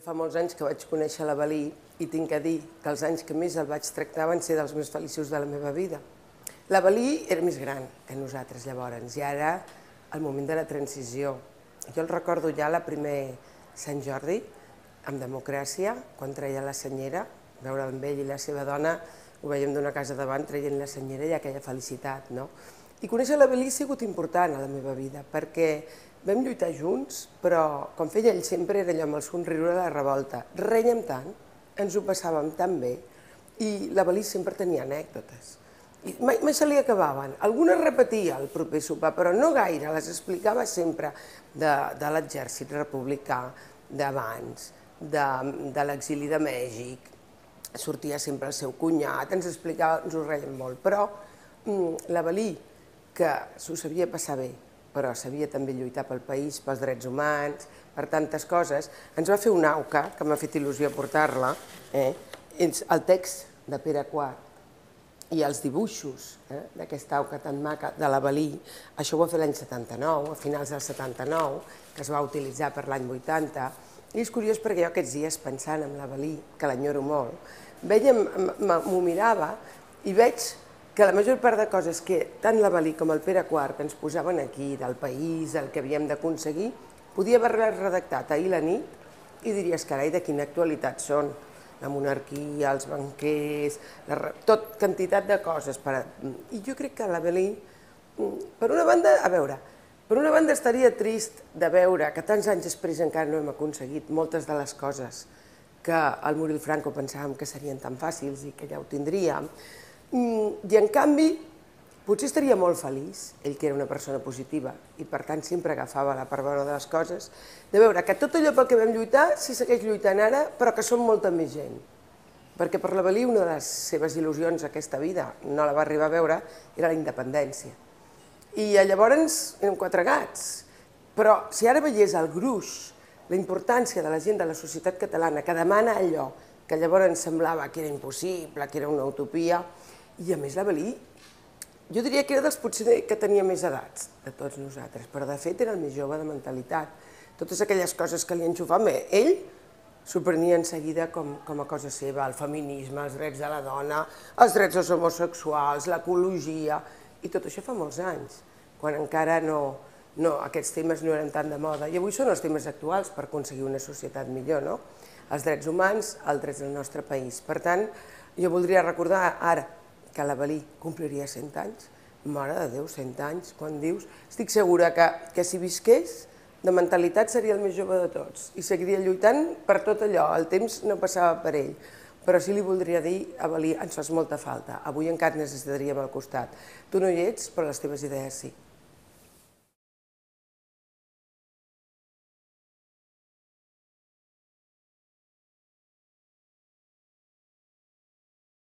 fa molts anys que vaig conèixer l'Avelí i tinc a dir que els anys que més el vaig tractar van ser dels més feliços de la meva vida. L'Avelí era més gran que nosaltres llavors i ara el moment de la transició. Jo el recordo ja la primer Sant Jordi, amb democràcia, quan treia la senyera, veure amb ell i la seva dona, ho veiem d'una casa davant traient la senyera i aquella felicitat, no? I conèixer l'Avelí ha sigut important a la meva vida, perquè vam lluitar junts, però com feia ell sempre era allò amb el somriure de la revolta. Rèiem tant, ens ho passàvem tan bé, i l'Avelí sempre tenia anècdotes. I mai se li acabaven. Algunes repetia al proper sopar, però no gaire, les explicava sempre de l'exèrcit republicà, d'abans, de l'exili de Mèxic, sortia sempre el seu cunyat, ens explicava, ens ho reiem molt, però l'Avelí, que s'ho sabia passar bé, però sabia també lluitar pel país, pels drets humans, per tantes coses, ens va fer una auca, que m'ha fet il·lusió portar-la, el text de Pere IV i els dibuixos d'aquesta auca tan maca de l'Avelí, això ho va fer l'any 79, a finals del 79, que es va utilitzar per l'any 80, i és curiós perquè jo aquests dies pensant en l'Avelí, que l'enyoro molt, m'ho mirava i veig que la major part de coses que tant l'Avelí com el Pere IV ens posaven aquí, del país, el que havíem d'aconseguir, podia haver-les redactat ahir la nit i diries, carai, de quina actualitat són. La monarquia, els banquers, tot quantitat de coses. I jo crec que l'Avelí, per una banda, a veure, per una banda estaria trist de veure que tants anys després encara no hem aconseguit moltes de les coses que al morir el Franco pensàvem que serien tan fàcils i que ja ho tindríem. I en canvi, potser estaria molt feliç, ell que era una persona positiva i per tant sempre agafava la part bona de les coses, de veure que tot allò pel que vam lluitar s'hi segueix lluitant ara, però que som molta més gent. Perquè per l'Avelí una de les seves il·lusions aquesta vida, no la va arribar a veure, era la independència. I llavors eren 4 gats. Però si ara veiés el gruix, la importància de la gent de la societat catalana que demana allò que llavors semblava que era impossible, que era una utopia, i a més l'Avelí, jo diria que era dels potser que tenia més edats de tots nosaltres, però de fet era el més jove de mentalitat. Totes aquelles coses que li enxufaven, ell s'ho prenia en seguida com a cosa seva, el feminisme, els drets de la dona, els drets dels homosexuals, l'ecologia, i tot això fa molts anys, quan encara aquests temes no eren tan de moda. I avui són els temes actuals per aconseguir una societat millor, no? Els drets humans, els drets del nostre país. Per tant, jo voldria recordar ara que l'Avelí compliria 100 anys. Mare de Déu, 100 anys, quan dius... Estic segura que si visqués, de mentalitat seria el més jove de tots i seguiria lluitant per tot allò. El temps no passava per ell. Però sí li voldria dir, Avelí, ens fas molta falta. Avui encara necessitaríem al costat. Tu no hi ets, però les teves idees sí.